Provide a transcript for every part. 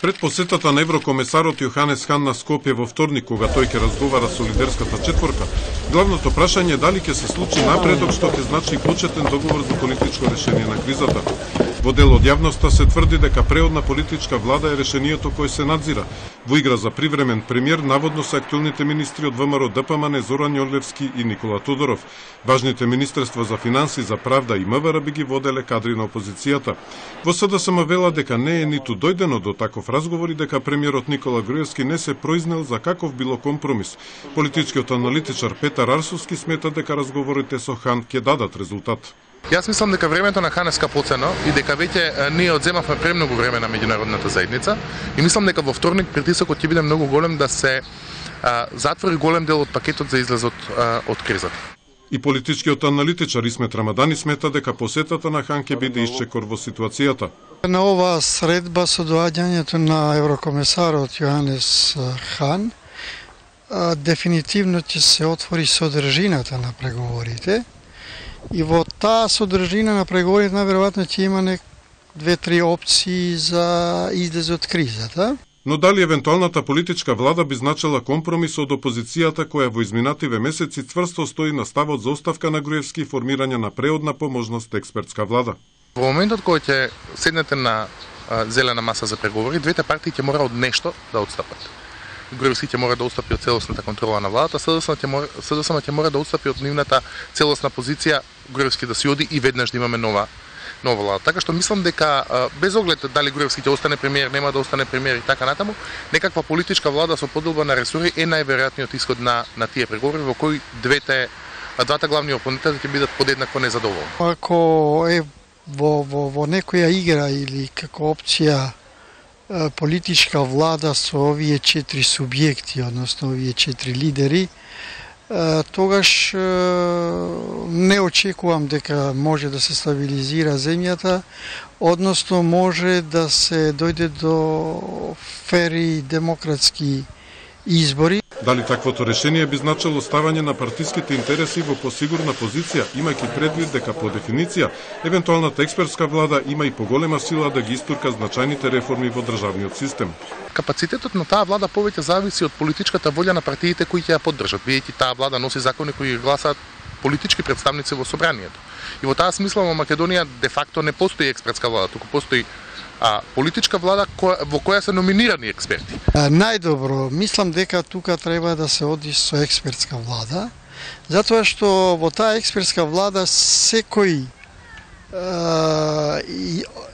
Пред посетата на еврокомесарот Јоханес Хан на Скопје во вторник, кога тој ќе разговара со лидерската четворка, главното прашање е дали ќе се случи напредок што ќе значи почетен договор за политичко решение на кризата. Во дел од јавноста се тврди дека преодна политичка влада е решението кое се надзира. Во игра за привремен премиер наводно се актуелните министри од ВМРО ДПМН Зоран Јорлевски и Никола Тодоров. Важните министерства за финанси, за правда и МВР би ги воделе кадри на опозицијата. Во СДСМ вела дека не е ниту дојдено до таков разговор и дека премиерот Никола Груевски не се произнел за каков било компромис. Политичкиот аналитичар Петар Арсовски смета дека разговорите со Хан ќе дадат резултат. Јас мислам дека времето на Хан е скапоцено и дека веќе ние одземавме премногу време на меѓународната заедница и мислам дека во вторник притисокот ќе биде многу голем да се затвори голем дел од пакетот за излезот од кризата. И политичкиот аналитичар Исмет Рамадани смета дека посетата на Хан ќе биде исчекор во ситуацијата. На оваа средба со доаѓањето на еврокомесарот Јоханес Хан дефинитивно ќе се отвори содржината на преговорите. И во таа содржина на преговорите најверојатно ќе има 2-3 опции за излез од кризата. Но дали евентуалната политичка влада би значила компромис од опозицијата која во изминативе месеци цврсто стои на ставот за оставка на Груевски и формирање на преодна по можност експертска влада? Во моментот кој ќе седнете на зелена маса за преговори, двете партии ќе мора од нешто да отстапат. Груевски ќе мора да отстапи од целосната контрола на владата, СДСМ ќе мора да отстапи од нивната целосна позиција, Груевски да си оди и веднаш да имаме нова влада. Така што мислам дека без оглед дали Груевски ќе остане премиер, нема да остане премиер и така натаму, некаква политичка влада со поделба на ресори е најверојатниот исход на тие преговори во кои двата главни опоненти ќе бидат подеднакво незадоволни. Ако е во некоја игра или како опција политичка влада со овие 4 субјекти, односно овие 4 лидери, тогаш не очекувам дека може да се стабилизира земјата, односно може да се дојде до фери демократски избори. Дали таквото решение би значило ставање на партиските интереси во посигурна позиција, имајќи предвид дека по дефиниција евентуалната експертска влада има и поголема сила да ги истурка значајните реформи во државниот систем. Капацитетот на таа влада повеќе зависи од политичката волја на партиите кои ќе ја поддржат, бидејќи таа влада носи закони кои ги гласаат политички представници во собранието. И во таа смисла во Македонија де факто не постои експертска влада, туку постои политичка влада во која се номинирани експерти. Најдобро, мислам дека тука треба да се оди со експертска влада, затоа што во таа експертска влада секој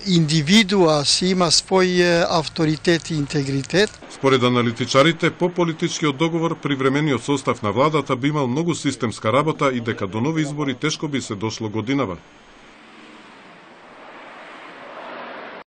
индивидуа си има свој авторитет и интегритет. Според аналитичарите, по политичкиот договор привремениот состав на владата би имал многу системска работа и дека до нови избори тешко би се дошло годинава.